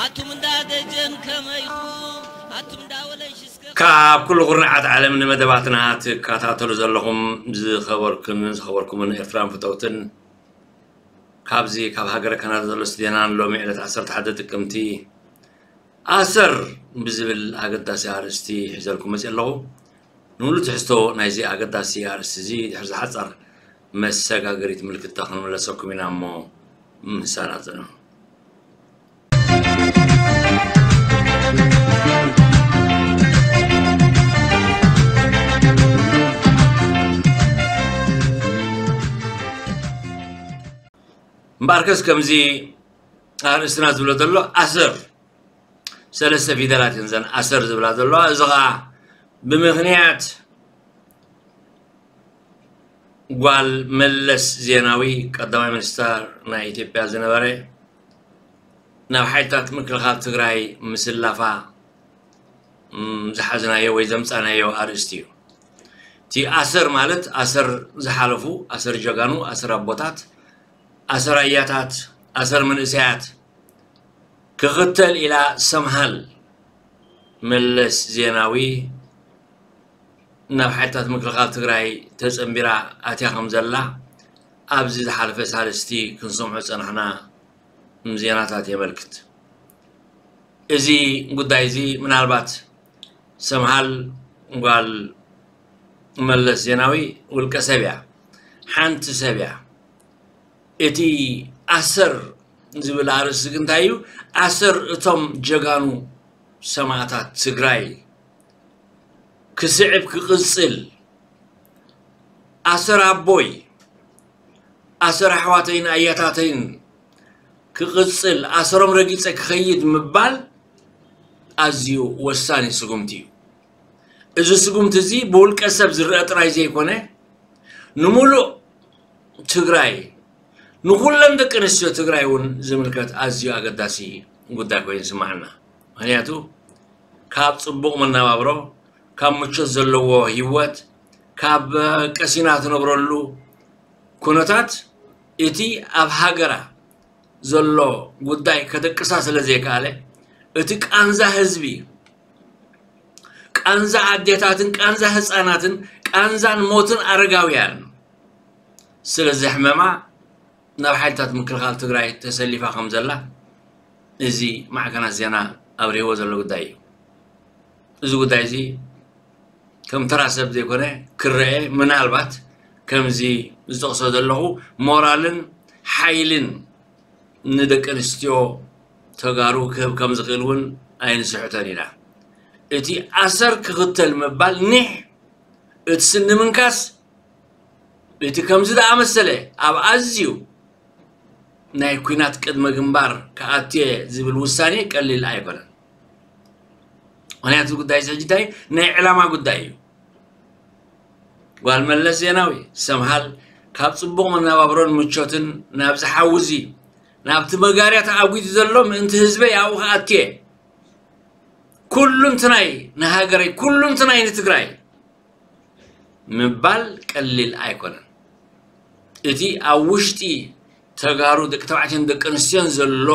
ኣቱም እንዳ ደጀን ከመይኹ ኣቱም እንዳ ወለንሽስከ ካብ ኩሉ ኩርናዓት ዓለም ንመደባትና ትከታተሉ ዘለኹም ዝኸበርኩን ዝኸበርኩምን ኤርትራን ፍተውትን ካብዚ ካብ ሃገረ ካናዳ ዘሎ ስቱድዮናን ሎሚ ዕለት ዓሰርተ ሓደ ጥቅምቲ ኣሰር ብዝብል ኣገዳሲ ኣርእስቲ ሒዘልኩም መፅእ ኣለኹ። ንሙሉ ትሕዝቶ ናይዚ ኣገዳሲ ኣርእስቲ እዚ ድሕሪ ዝሓፀር መሰጋገሪት ምልክታ ክንምለሰኩም ኢና እሞ ምሳና ፅንሑ። እምበኣርከስ ከምዚ ኣርእስትና ዝብሎ ዘሎ ኣሰር ሰለስተ ፊደላት እየን ዘን ኣሰር ዝብላ ዘለዋ። እዚ ኸዓ ብምኽንያት ጓል መለስ ዜናዊ ቀዳማይ ሚኒስተር ናይ ኢትዮጵያ ዝነበረ ናብ ሓይልታት ምክልኻል ትግራይ ምስላፋ ዝሓዝናዮ ወይ ዘምፃናዮ ኣርእስቲ እዩ። እቲ ኣሰር ማለት ኣሰር ዝሓለፉ ኣሰር ጀጋኑ ኣሰር ኣቦታት ኣሰር ኣያታት ኣሰር መንእሰያት ክኽተል ኢላ ሰምሃል መለስ ዜናዊ ናብ ሓይልታት ምክልኻል ትግራይ ተፀንቢራ ኣትያ ከም ዘላ ኣብዚ ዝሓለፈ ሳልስቲ ክንሰምዖ ዝፀናሕና ዜናታት የመልክት። እዚ ጉዳይ እዚ ምናልባት ሰምሃል ጓል መለስ ዜናዊ ውልቀ ሰብ እያ፣ ሓንቲ ሰብ እያ። እቲ ኣሰር ዝብል ኣርእስቲ ግን እንታይ እዩ? ኣሰር እቶም ጀጋኑ ሰማእታት ትግራይ ክስዕብ ክቕፅል ኣሰር ኣቦይ ኣሰር ኣሕዋተይን ኣያታተይን ክቕፅል ኣሰሮም ረጊፀ ክኸይድ ምባል ኣዝዩ ወሳኒ ስጉምቲ እዩ። እዚ ስጉምቲ እዚ ብውልቀ ሰብ ዝረአ ጥራይ ዘይኮነ ንሙሉእ ትግራይ ንኹለን ደቂ ኣንስትዮ ትግራይ እውን ዝምልከት ኣዝዩ ኣገዳሲ ጉዳይ ኮይኑ ይስማዓና። ምክንያቱ ካብ ፅቡቕ መነባብሮ ካብ ምቾት ዘለዎ ህይወት ካብ ቀሲና ትነብረሉ ኩነታት እቲ ኣብ ሃገራ ዘሎ ጉዳይ ከደቅሳ ስለ ዘይከኣለ እቲ ቃንዛ ህዝቢ ቃንዛ ኣዴታትን ቃንዛ ህፃናትን ቃንዛን ሞትን ኣረጋውያን ስለ ዘሕመማ ናብ ሓይልታት ምክልኻል ትግራይ ተሰሊፋ ከም ዘላ እዚ ማዕከናት ዜና ኣብሪህዎ ዘሎ ጉዳይ እዩ። እዚ ጉዳይ እዚ ከም ተራ ሰብ ዘይኮነ ክረአ ምናልባት ከምዚ ዝጠቕሶ ዘለኹ ሞራልን ሓይልን ንደቂ ኣንስትዮ ተጋሩ ክህብ ከም ዝኽእል እውን ኣይንስሕቶን ኢና። እቲ ኣሰር ክኽተል ምባል ኒሕ እቲ ስኒ ምንካስ እቲ ከምዚ ዝኣመሰለ ኣብ ኣዝዩ ናይ ኲናት ቅድመ ግንባር ክኣትየ ዝብል ውሳኔ ቀሊል ኣይኮነን። ምክንያቱ ጉዳይ እዚ ሕጂ እንታይ ናይ ዕላማ ጉዳይ እዩ። ጓል መለስ ዜናዊ ሰምሃል ካብ ፅቡቕ መነባብሮን ምቾትን ናብዚ ሓዊ እዚ ናብቲ መጋርያ ተኣጒዱ ዘሎ ምእንቲ ህዝበይ ኣብኡ ክኣትየ ኩሉንትናይ ንሃገረይ ኩሉንትናይ ንትግራይ ምባል ቀሊል ኣይኮነን። እቲ ኣብ ውሽጢ ተጋሩ ደቂ ተባዕትዮን ደቂ ኣንስትዮን ዘሎ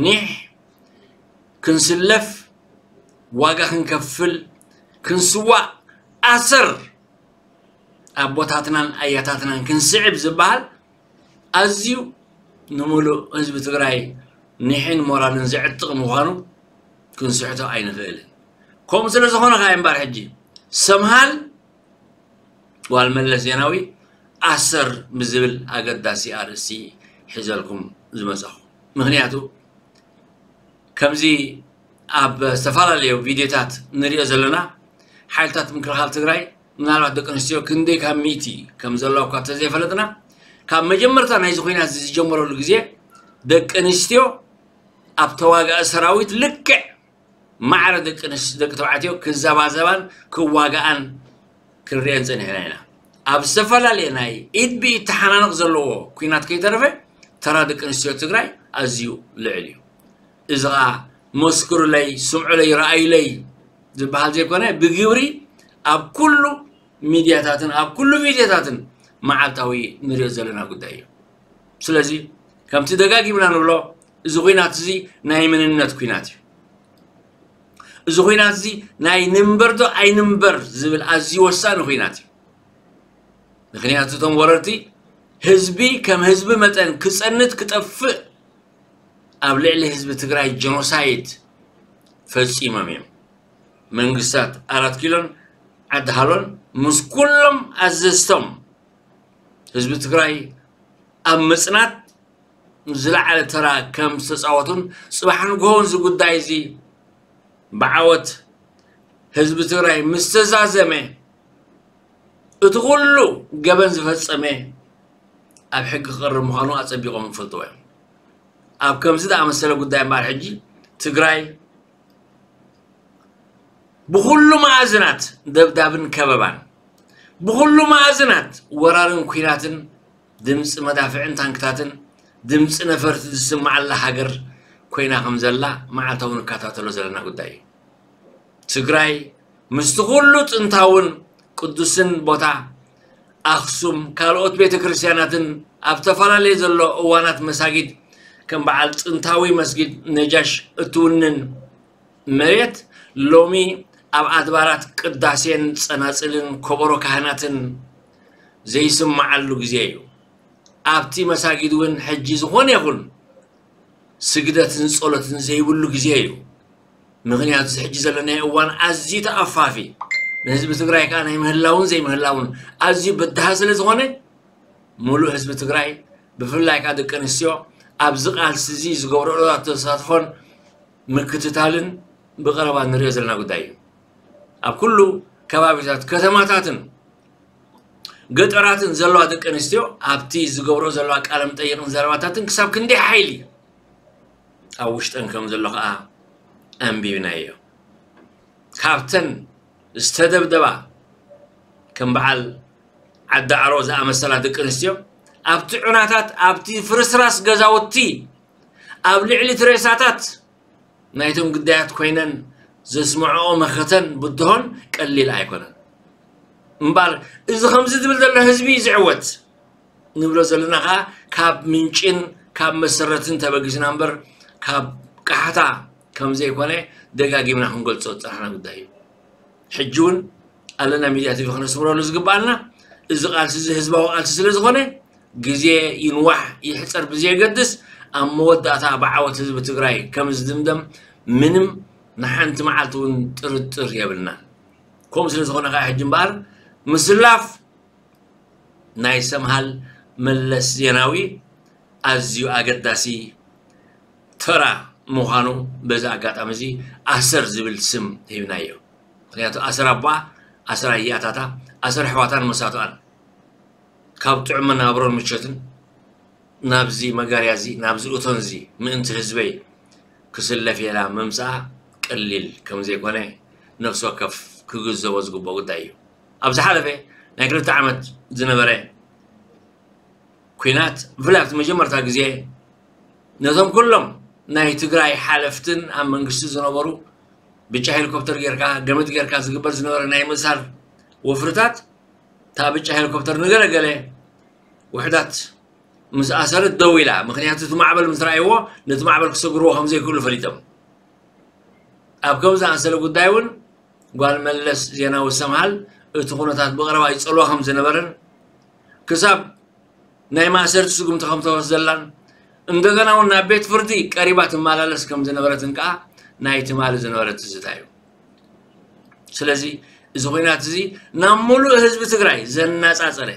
ኒሕ ክንስለፍ ዋጋ ክንከፍል ክንስዋእ ኣሰር ኣቦታትናን ኣያታትናን ክንስዕብ ዝበሃል ኣዝዩ ንሙሉእ ህዝቢ ትግራይ ኒሕን ሞራልን ዘዕጥቕ ምዃኑ ክንስሕቶ ኣይንኽእልን። ከምኡ ስለ ዝኾነ ከዓ እምበር ሕጂ ሰምሃል ጓል መለስ ዜናዊ ኣሰር ብዝብል ኣገዳሲ ኣርእስቲ ሒዘልኩም ዝመፀኹ። ምክንያቱ ከምዚ ኣብ ዝተፈላለዩ ቪድዮታት ንሪኦ ዘለና ሓይልታት ምክልኻል ትግራይ ምናልባት ደቂ ኣንስትዮ ክንደይ ካብ ሚእቲ ከም ዘለዋ እኳ እንተዘይፈለጥና ካብ መጀመርታ ናይዚ ኩናት ዝጀመረሉ ግዜ ደቂ ኣንስትዮ ኣብ ተዋጋኢ ሰራዊት ልክዕ ማዕረ ደቂ ኣንስ- ደቂ ተባዕትዮ ክዘባዘባን ክዋጋኣን ክንሪአን ፀኒሕና ኢና። ኣብ ዝተፈላለየ ናይ ኢድ ብኢድ ተሓናነቕ ዘለዎ ኩናት ከይተረፈ ተራ ደቂ ኣንስትዮ ትግራይ ኣዝዩ ልዕል እዩ። እዚ ኸዓ መስክሩለይ፣ ስምዑለይ፣ ረኣዩለይ ዝበሃል ዘይኮነ ብግብሪ ኣብ ኩሉ ሚድያታትን ኣብ ኩሉ ቪድዮታትን መዓልታዊ ንሪኦ ዘለና ጉዳይ እዩ። ስለዚ ከምቲ ደጋጊምና ንብሎ እዚ ኩናት እዚ ናይ መንነት ኩናት እዩ። እዚ ኩናት እዚ ናይ ንንበር ዶ ኣይንንበር ዝብል ኣዝዩ ወሳኒ ኩናት እዩ። ምክንያቱ እቶም ወረርቲ ህዝቢ ከም ህዝቢ መጠን ክፀንት ክጠፍእ ኣብ ልዕሊ ህዝቢ ትግራይ ጀኖሳይድ ፈፂሞም እዮም። መንግስታት ኣራት ኪሎን ዓዲ ሃሎን ምስ ኩሎም ኣዘዝቶም ህዝቢ ትግራይ ኣብ ምፅናት ዝለዓለ ተራ ከም ዝተፃወቱን ፅባሕ ንግሆ እዚ ጉዳይ እዚ ብዓወት ህዝቢ ትግራይ ምስ ተዛዘመ እቲ ኩሉ ገበን ዝፈፀመ ኣብ ሕጊ ክቐርብ ምዃኑ ኣፀቢቖም ይፈልጥዎ እዮም። ኣብ ከምዚ ዝኣመሰለ ጉዳይ እምበኣር ሕጂ ትግራይ ብኹሉ መኣዝናት ደብዳብን ከበባን ብኹሉ መኣዝናት ወራርን ኩናትን ድምፂ መዳፍዕን ታንክታትን ድምፂ ነፈርቲ ዝስማዓላ ሃገር ኮይና ከም ዘላ መዓልታዊ ንከታተሎ ዘለና ጉዳይ እዩ። ትግራይ ምስቲ ኩሉ ጥንታውን ቅዱስን ቦታ ኣኽሱም ካልኦት ቤተ ክርስቲያናትን ኣብ ተፈላለየ ዘሎ እዋናት መሳጊድ ከም በዓል ጥንታዊ መስጊድ ነጃሽ እትውንን መሬት ሎሚ ኣብ ኣድባራት ቅዳሴን ጸናጽልን ኮበሮ ካህናትን ዘይስማዓሉ ግዜ እዩ። ኣብቲ መሳጊድ እውን ሕጂ ዝኾነ ይኹን ስግደትን ጸሎትን ዘይብሉ ግዜ እዩ። ምኽንያቱ እዚ ሕጂ ዘለናዮ እዋን ኣዝዩ ተኣፋፊ ንህዝቢ ትግራይ ከዓ ናይ ምህላውን ዘይምህላውን ኣዝዩ በድሃ ስለ ዝኾነ ሙሉእ ህዝቢ ትግራይ ብፍላይ ከዓ ደቂ ኣንስትዮ ኣብዚ ቃልሲ እዚ ዝገብርኦ ተሳትፎን ምክትታልን ብቐረባ ንሪኦ ዘለና ጉዳይ እዩ። ኣብ ኩሉ ከባቢታት ከተማታትን ገጠራትን ዘለዋ ደቂ ኣንስትዮ ኣብቲ ዝገብሮ ዘለዋ ቃለ መጠይቕን ዘረባታትን ክሳብ ክንደይ ሓይሊ ኣብ ውሽጠን ከም ዘሎ ከዓ ኣንቢብናዮ። ካብተን ዝተደብደባ ከም በዓል ዓዲ ዓሮ ዝኣመሰላ ደቂ ኣንስትዮ ኣብቲ ዑናታት ኣብቲ ፍርስራስ ገዛውቲ ኣብ ልዕሊ እቲ ሬሳታት ናይቶም ግዳያት ኮይነን ዘስምዐኦ መኸተን ብድሆን ቀሊል ኣይኮነን። እምበኣር እዚ ከምዚ ዝብል ዘሎ ህዝቢ እዩ ዝዕወት ንብሎ ዘለና ከዓ ካብ ምንጭን ካብ መሰረትን ተበጊስና እምበር ካብ ቃሕታ ከም ዘይኮነ ደጋጊምና ክንገልፆ ዝፀናሕና ጉዳይ እዩ። ሕጂ እውን ኣለና ሚድያ ቲቪ ክነስምረሉ ዝግባኣልና እዚ ቃልሲ እዚ ህዝባዊ ቃልሲ ስለ ዝኾነ ግዜ ይንዋሕ ይሕፀር ብዘየገድስ ኣብ መወዳእታ ብዓወት ህዝቢ ትግራይ ከም ዝድምደም ምንም ንሓንቲ መዓልቲ እውን ጥርጥር የብልናን። ከምኡ ስለ ዝኾነ ከዓ ሕጂ እምበኣር ምስላፍ ናይ ሰምሃል መለስ ዜናዊ ኣዝዩ ኣገዳሲ ተራ ምዃኑ በዚ ኣጋጣሚ እዚ ኣሰር ዝብል ስም ሂብናዮ። ምክንያቱ ኣሰር ኣቦኣ፣ ኣሰር ኣያታታ፣ ኣሰር ኣሕዋታን መሳቱኣን ካብ ጥዑም መነባብሮን ምቾትን ናብዚ መጋርያ እዚ ናብዚ እቶን እዚ ምእንቲ ህዝበይ ክስለፍ ኢላ ምምፅኣ ቀሊል ከም ዘይኮነ ነፍሲ ወከፍ ክግንዘቦ ዝግብኦ ጉዳይ እዩ። ኣብ ዝሓለፈ ናይ ክልተ ዓመት ዝነበረ ኲናት ብፍላይ ኣብቲ መጀመርታ ግዜ ነቶም ኩሎም ናይ ትግራይ ሓለፍትን ኣብ መንግስቲ ዝነበሩ ብጫ ሄሊኮፕተር ጌርካ ገመድ ጌርካ ዝግበር ዝነበረ ናይ ምእሳር ወፍርታት እታ ብጫ ሄሊኮፕተር ንገለገለ ውሕዳት ምስ ኣሰረት ደው ኢላ። ምክንያቱ እቲ ማዕበል ምስ ረኣይዎ ነቲ ማዕበል ክሰግርዎ ከም ዘይክእሉ ፈሊጦም። ኣብ ከም ዝኣመሰለ ጉዳይ እውን ጓል መለስ ዜናዊ ሰምሃል እቲ ኩነታት ብቐረባ ይጸልዋ ከም ዝነበረን ክሳብ ናይ ማእሰርቲ ስጉምቲ ከም ተወስደላን እንደገና እውን ናብ ቤት ፍርዲ ቀሪባ ትመላለስ ከም ዝነበረትን ከዓ ናይ ትማሊ ዝነበረ ትዝታ እዩ። ስለዚ እዚ ኩናት እዚ ናብ ሙሉእ ህዝቢ ትግራይ ዘነፃፀረ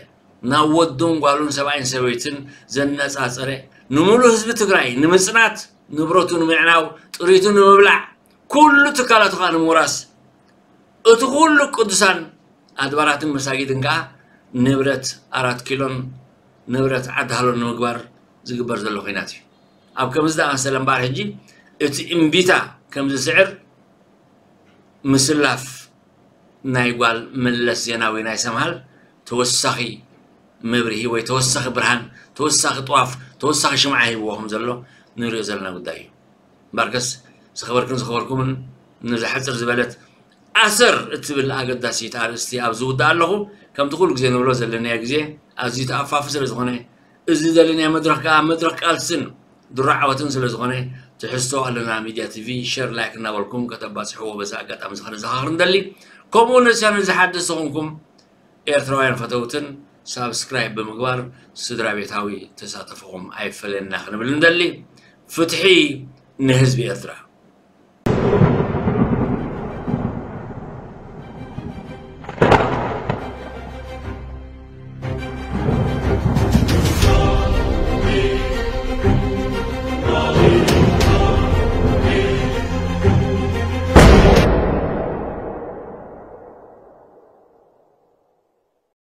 ናብ ወዱን ጓሉን ሰብኣይን ሰበይትን ዘነፃፀረ ንምሉእ ህዝቢ ትግራይ ንምፅናት፣ ንብረቱ ንምዕናው፣ ጥሪቱ ንምብላዕ፣ ኩሉ ትካላቱ ከዓ ንምውራስ፣ እቲ ኩሉ ቅዱሳን ኣድባራትን መሳጊድን ከዓ ንብረት ኣራት ኪሎን ንብረት ዓዲ ሃሎን ንምግባር ዝግበር ዘሎ ኩናት እዩ። ኣብ ከምዚ ዝኣመሰለ እምበኣር ሕጂ እቲ እምቢታ ከም ዝስዕር ምስላፍ ናይ ጓል መለስ ዜናዊ ናይ ሰምሃል ተወሳኺ መብርሂ ወይ ተወሳኺ ብርሃን፣ ተወሳኺ ጥዋፍ፣ ተወሳኺ ሽምዓ ሂብዎ ከም ዘሎ ንሪኦ ዘለና ጉዳይ እዩ። እምበኣርከስ ዝኸበርክን ዝኸበርኩምን ነዛ ሕፅር ዝበለት ኣሰር እትብል ኣገዳሲት ኣርእስቲ ኣብ ዝውድእ ኣለኹ። ከምቲ ኩሉ ግዜ ንብሎ ዘለናዮ ግዜ ኣዝዩ ተኣፋፊ ስለ ዝኾነ፣ እዚ ዘለናዮ መድረኽ ከዓ መድረኽ ቃልስን ድሮ ዓወትን ስለ ዝኾነ፣ ትሕዝቶ ኣለና ሚድያ ቲቪ ሸር ላይክ እናበልኩም ከተባፅሕዎ በዚ ኣጋጣሚ እዚ ከነዘኻኽር ንደሊ። ከምኡ ነስያ ነዚ ሓደስቲ ዝኾንኩም ኤርትራውያን ፈተውትን ሳብስክራይብ ብምግባር ስድራ ቤታዊ ተሳተፎኹም ኣይፈለየና ክንብል ንደሊ። ፍትሒ ንህዝቢ ኤርትራ።